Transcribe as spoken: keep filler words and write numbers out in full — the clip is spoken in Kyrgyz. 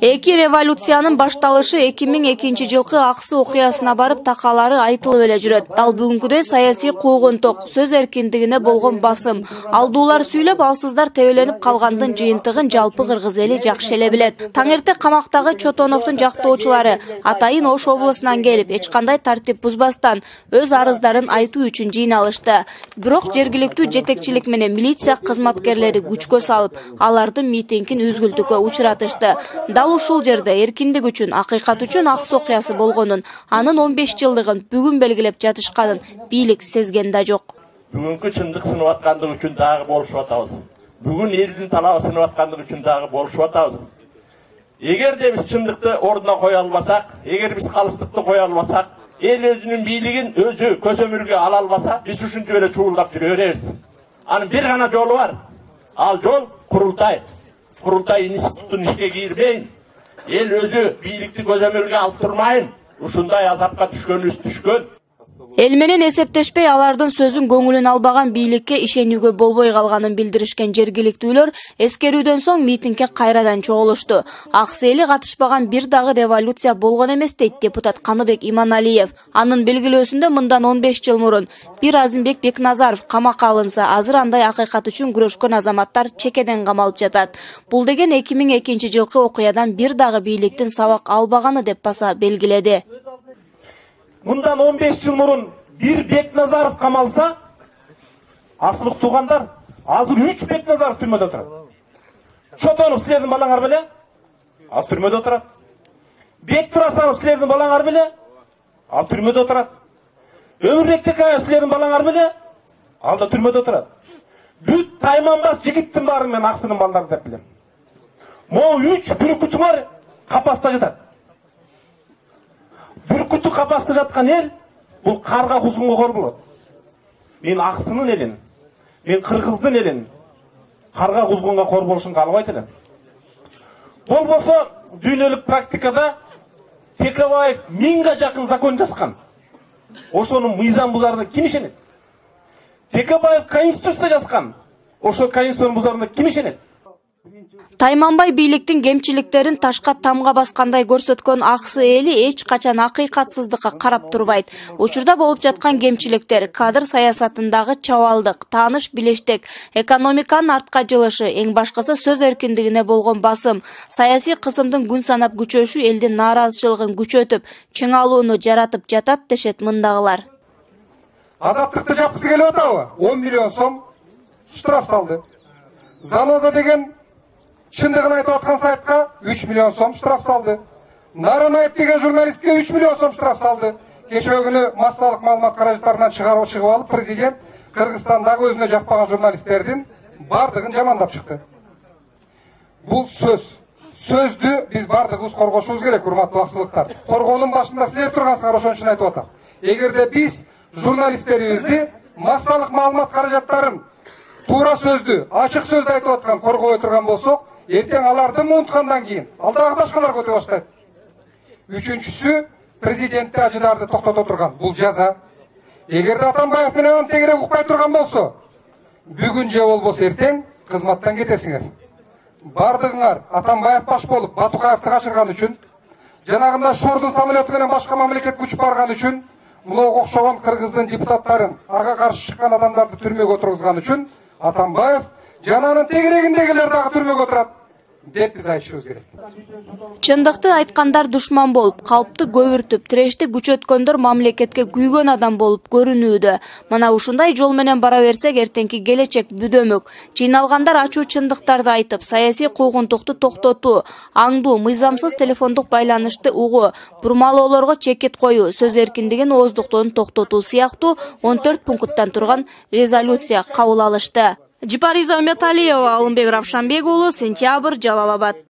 Эки революциянын башталышы эки миң экинчи жылкы аксы окуясына барып такалары айтылып эле жүрөт. Дал бүгүнкүдөй саясий куугунтук, сөз эркиндигине болгон басым, алдуулар сүйлөп, алсыздар тебеленип калгандын жыйынтыгын жалпы кыргыз эли жакшы эле билет. Таңерте камактагы Чотоновдун жактоочулары атайын Ош облусунан келип, эч кандай тартип бузбастан өз арыздарын айтуу үчүн жыйналышты. Бирок жергиликтүү жетекчилик менен милиция кызматкерлери күчкө салып, алардын митингин үзгүлтүккө учуратышты. Дал ушул жерде эркиндик үчүн, акыйкат үчүн аксы окуясы болгонун, анын он беш жылдыгын бүгүн белгилеп жатышканын бийлик сезген да жок. Бүгүнкү чындык сынып аткандык үчүн дагы болушуп атабыз. Бүгүн элдин талабы сынып аткандык үчүн дагы болушуп атабыз. Эгерде биз чындыкты ордуна кое албасак, эгер биз калыстыкты кое албасак, эл өзүнүн бийлигин өзү көзөмөлгө ала албаса, биз ушинтип эле чуулдап жүрө беребиз. Анын бир гана жолу бар. Ал жол курултай. Курултай институттун ишке кирбейин, эл өзү бийликти көзөмөлгө алып турмайын, ушундай азапка түшкөнүбүз түшкөн. Эл менен эсептешпей, алардын сөзүн көңүлүн албаган бийликке ишенүүгө болбой калганын билдиришкен жергиликтүүлөр эскерүүдөн соң митингге кайрадан чогулушту. Аксы эли катышпаган бир дагы революция болгон эмес дейт депутат Каныбек Иманалиев. Анын белгилөөсүндө мындан он беш жыл мурун бир Азымбек Бекназаров камакка алынса, азыр андай акыйкат үчүн күрөшкөн азаматтар чекеден камалып жатат. Бул деген эки миң экинчи жылкы окуядан бир дагы бийликтин сабак албаганы деп баса белгиледи. Мындан он беш жыл мурун бир Бекназаров камалса, асылык туугандар, азыр үч Бекназаров түрмөдө отурат. Чотонов силердин балаңар беле? Ал түрмөдө отурат. Бектурасанов силердин балаңар беле? Ал түрмөдө отурат. Өмүрбек Текаев силердин балаңар беле? Ал да түрмөдө отурат. Бүт Тайманбас жигиттин баарын мен Аксынын балдары деп билем. Могу үч бүркүтүңөр капаста жатат. Бүркүтү капаста жаткан эл бул карга кузгунга кор болот. Мен Аксынын элин, мен Кыргыздын элин карга кузгунга кор болушун каалабайт элем. Болбосо дүйнөлүк практикада Текебаев миңге жакын закон жазган. Ошонун мыйзам бузарына ким ишенет? Текебаев конституция жазган. Ошо конституциянын бузарына ким ишенет? Тайманбай бийликтин кемчиликтерин ташка тамга баскандай көрсөткөн Аксы эли эч качан акыйкатсыздыкка карап турбайт. Учурда болуп жаткан кемчиликтер кадр саясатындагы чабалдык, тааныш билештек, экономиканын артка жылышы, эң башкысы сөз эркиндигине болгон басым, саясий кысымдын күн санап күчөшү элдин нааразычылыгын күчөтүп, чыңалууну жаратып жатат дешет мындагылар. Азаттыкты жапкысы келип атабы? он миллион сом штраф салды. Заноза деген чындыгын айтып аткан сайтка үч миллион сом штраф салды. Наранаев деген журналистке үч миллион сом штраф салды. Кечээ күнү массалык маалымат каражаттарынан чыгарып чыгып алып, президент Кыргызстандагы өзүнө жакпаган журналисттердин бардыгын жамандап чыкты. Бул сөз. Сөздү биз бардыгыбыз коргошубуз керек, урматтуу аксылыктар. Коргоонун башында силер тургансыңар, ошон үчүн айтып атам. Эгерде биз журналисттерибизди массалык маалымат каражаттарын туура сөздү, ачык сөздү айтып аткан коргой турган болсок, эртең аларды унуткандан кийин ал дагы башкаларга өтө баштайт. Үчүнчүсү, президентти ажыдарды токтото турган. Бул жаза. Эгерде Атамбаев менен анын тегерек укпай турган болсо, бүгүн же болбосо эртең кызматтан кетесиңер. Бардыгыңар Атамбаев баш болуп Батукаевди качырган үчүн, жанагында Шордун самолету менен башка мамлекетке учуп барган үчүн, мулуга окшогон Кыргыздын депутаттарын, ага каршы чыккан адамдарды түрмөгө отургузган үчүн Атамбаев жананын тегерегиндегилер дагы түрмөгө отурат деп биз айтышыбыз керек. Чындыкты айткандар душман болуп, калпты көбүртүп, тирешти күчөткөндөр мамлекетке күйгөн адам болуп көрүнүүдө. Мына ушундай жол менен бара берсек, эртеңки келечек бүдөмөк. Жыйналгандар ачуу чындыктарды айтып, саясий куугунтукту токтотуу, аңдуу, мыйзамсыз телефондук байланышты угуу, бурмалоолорго чекит коюу, сөз эркиндигин ооздуктоон токтотуу сыяктуу он төрт пункттан турган резолюция кабыл алышты. Жипариза Үмөталиева, Алымбек Равшанбек уулу, Сентябрь, Жалал Абад.